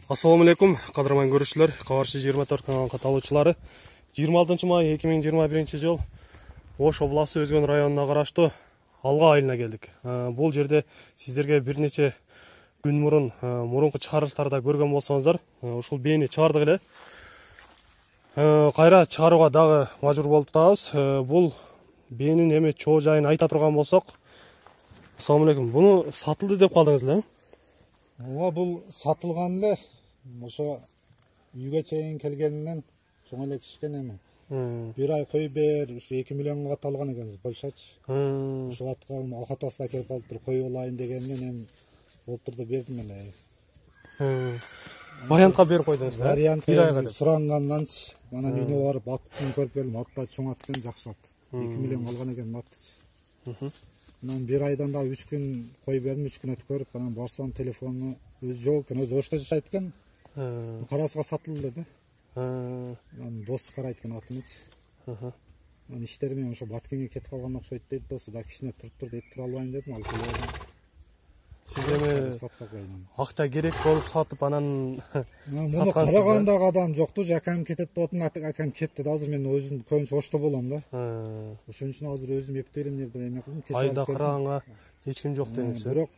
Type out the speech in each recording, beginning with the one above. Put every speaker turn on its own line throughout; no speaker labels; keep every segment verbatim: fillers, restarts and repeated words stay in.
Assalamu alaikum, qadırman görüşçüler, Kavarşı жыйырма төрт kanalın kataloçuları. жыйырма алтынчы may эки миң жыйырма биринчи жыл Ош обласы Өзгөн районуна караштуу Алга айылына келдик. Бул жерде сиздерге бир нече күн мурун мурунку чыгарылыштарда көргөн болсоңуздар, ушул бээни чыгардык эле. Кайра чыгарууга дагы мажбур болуп атабыз. Бул бээнин эми чоо жайын айта турган болсок, Assalamu alaikum, буну сатылды деп калдыңыз эле?
Ооба, бул сатылган эле. Ошо үйгө чейин келгенинен чоң эле кишкен эми. Бир ай кой бер, ушу эки миллионго каталган экенбиз, Польшачы. Ошо аткан акатасы акелип калыптыр, кой алайын дегенинен эми болуптур деп бердим эле.
Вариантка берип койдуңуз, э?
Вариантка суранганданчы, анан үйүнө барып атын көрүп келдим, атта чоң ат экен, жакшы ат. эки миллион алган экен аты. Анан бир айдан да үч күн кой бердим, үч күн өткөрүп, анан барсам телефону өзү жок экен, өзү Ошто жашайт экен. Карасыга сатылды деди. Анан досу карайт экен атынычы. Анан иштери менен ошо Баткенге кетип калган окшойт дейт досу, да кичине туруп тур дейт, тура албайм дедим, алып келдим.
Сиз эми акча керек болуп сатып анан
муну карагандагы адам жокту, акам кетет деп атам, акам кетти да, азыр мен өзүм көбүнчө Ошто болом да. Ошон үчүн азыр өзүм эптейлим жерде эме кылдым.
Айда караганга эч ким жок деңиз.
Бирок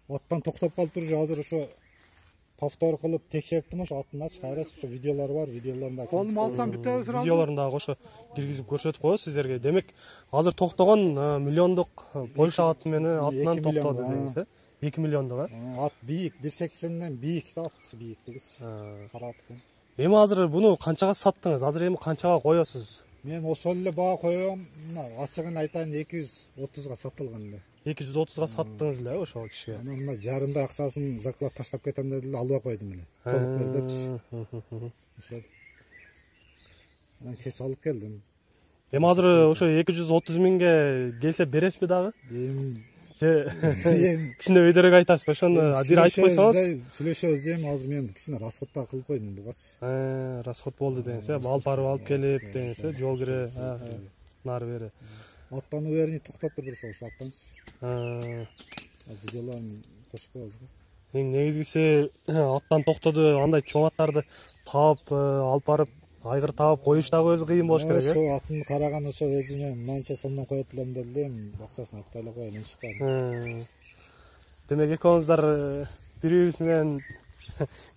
аттан токтоп калыптыр, азыр ошо повтор кылып текшерттим, ошо атыначы, кайра ошо видеолор бар, видеолорунда колума алсам бүтөбүз сразу.
Видеолорунда ошо киргизип көрсөтүп коебуз сиздерге. Демек, азыр токтогон миллиондук Польша аты менен атынан токтоду деңиз, э? эки миллиондук, э?
Ат бийик, бир сексенден бийик да, ат бийиктиги. Кара ат экен.
Эми азыр буну канчага саттыңыз? Азыр эми канчага коесуз?
Мен ошол эле баа коем, ачыгын айтайын, эки жүз отузга сатылган эле.
эки жүз отузга саттыңыз эле ошол кишиге.
Анан мына жарымдай акчасын заклад таштап кетем деди эле, албай койдум эле. Толук бер депчи. Ошо. Анан кесип алып келдим.
Эми азыр ошо эки жүз отуз миңге келсе бересизби дагы?
Эми
кичине өйдөрөөк айтасыз, ошону бир айтып койсоңуз.
Сүйлөшөбүз эми, азыр мен кичине расход да кылып койдум бугачы.
Э, расход болду деңиз, э? Алып барып алып келип деңиз, э? Жол кире, нары бери.
Аттануу берини токтоп туруш ошо аттан. Видеолорун кошуп коебуз го.
Эң негизгиси аттан токтоду, андай чоң аттарды таап алып барып айгыр таап коюш дагы өзү кыйын болуш керек, э?
Ошо атын караган ошо өзүмө мынанча сомдон коет элем деди эле, акчасын айтпай эле коеюн, чыккан.
Демек экөөңүздөр бири-бирибиз менен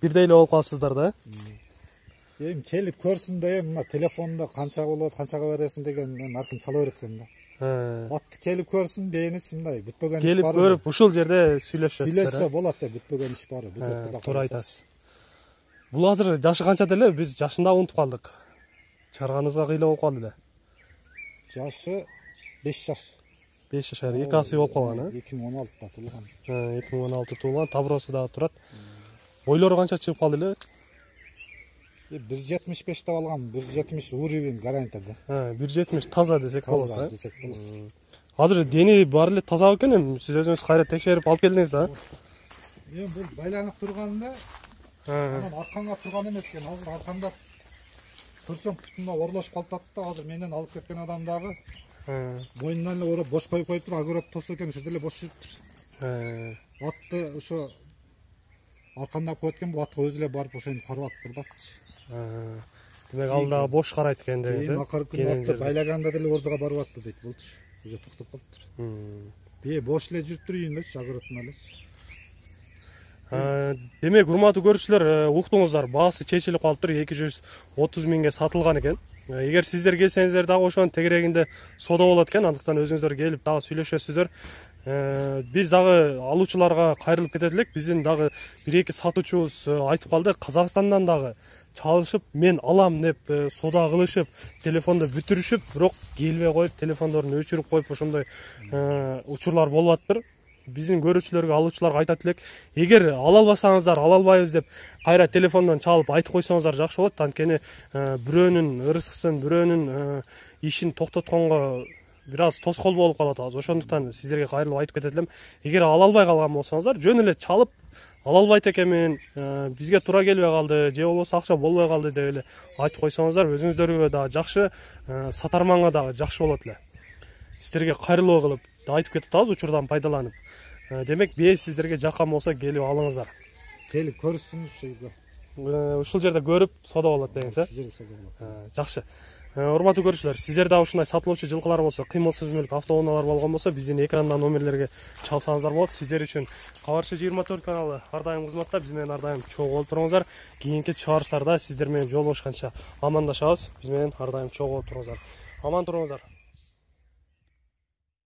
бирдей эле болуп калыпсыздар да?
Эми келип көрсүн да, эми мына телефондо канча болот, канчага бересиң деген эми ар ким чала берет экен да. Атты келип көрсүн, бээнис мындай бүтпөгөн иш бар.
Келип көрүп, ушул жерде сүйлөшөсүздөр.
Сүйлөшсө болот да, бүтпөгөн иш бар.
Туура айтасыз. Бул азыр жашы канча деле? Биз жашын да унутуп калдык. Чыгарганыңызга кыйла болуп калды эле.
Жашы беш жаш.
беш жашар, эки асы болуп калган, э?
эки миң он алтыда туулган.
эки миң он алты туулган, табыросу дагы турат. Бойлору канча чыгып калды эле?
бир жетимиш беш деп алгам, бир жетимиш уровень гарантия да.
бир жетимиш таза десек болот, э? Азыр дени баары эле таза экен, эми сиз өзүңүз кайра текшерип алып келдиңиз да?
Эми бул байланып турганда, анан арканга турган эмес экен. Азыр арканда көрсөң путуна орлошуп калып да, азыр менден алып кеткен адам дагы мойнунан эле ороп бош коюп коюптур, агурат тосу экен, ошол эле бош жүрүптүр. Атты ошо аркандап коет экен, бул атка өзү эле барып ошону карап атыптыр дачы.
Демек ал дагы бош карайт экен деңиз, э?
Акыркы күнү атты байлаганда деле ордуга барып атты дейт болчу. Уже токтоп калыптыр. Бие бош эле жүрүптүр үйүндө, агуратын эле.
Демек, урматтуу көрүүчүлөр, уктуңуздар, баасы чечилип калыптыр, эки жүз отуз миңге сатылган экен. Эгер сиздер келсеңиздер дагы ошонун тегерегинде соода болот экен, андыктан өзүңүздөр келип дагы сүйлөшөсүздөр. Биз дагы алуучуларга кайрылып кетет элек. Биздин дагы бир эки сатуучубуз айтып калды, Казакстандан дагы чалышып, мен алам деп соода кылышып, телефонду бүтүрүшүп, бирок келбей коюп, телефондорун өчүрүп коюп, ошондой учурлар болуп атыптыр. Биздин көрүүчүлөргө, алуучуларга айтат элек, эгер ала албасаңыздар, ала албайбыз деп кайра телефондон чалып айтып койсоңуздар жакшы болот. Анткени бирөөнүн ырыскысын, бирөөнүн ишин токтотконго бир аз тоскоол болуп калып атабыз. Ошондуктан сиздерге кайрылып айтып кетет элем. Эгер ала албай калган болсоңуздар, жөн эле чалып ала албайт экенмин, бизге туура келбей калды, же болбосо акча болбой калды деп эле айтып койсоңуздар, өзүңүздөргө дагы жакшы, сатарманга дагы жакшы болот эле. Сиздерге кайрылуу кылып айтып кетип атабыз, учурдан пайдаланып. Демек, бээ сиздерге жаккан болсо келип алыңыздар.
Келип көрсүн ушул үйгө.
ушул жерде көрүп соода болот дегенсиз э?
Ушул жерде соода болот.
Жакшы. Урматтуу көрүүчүлөр, сиздер дагы ушундай сатылуучу жылкылар болсо, кыймылсыз мүлк, автоунаалар болгон болсо, биздин экрандан номерлерге чалсаңыздар болот. Сиздер үчүн Кабарчы жыйырма төрт каналы ар дайым кызматта. Биз менен ар дайым чогуу болуп туруңуздар. Кийинки чыгарыштарда сиздер менен жолугушканча амандашабыз. Биз менен ар дайым чогуу болуп туруңуздар. Аман туруңуздар.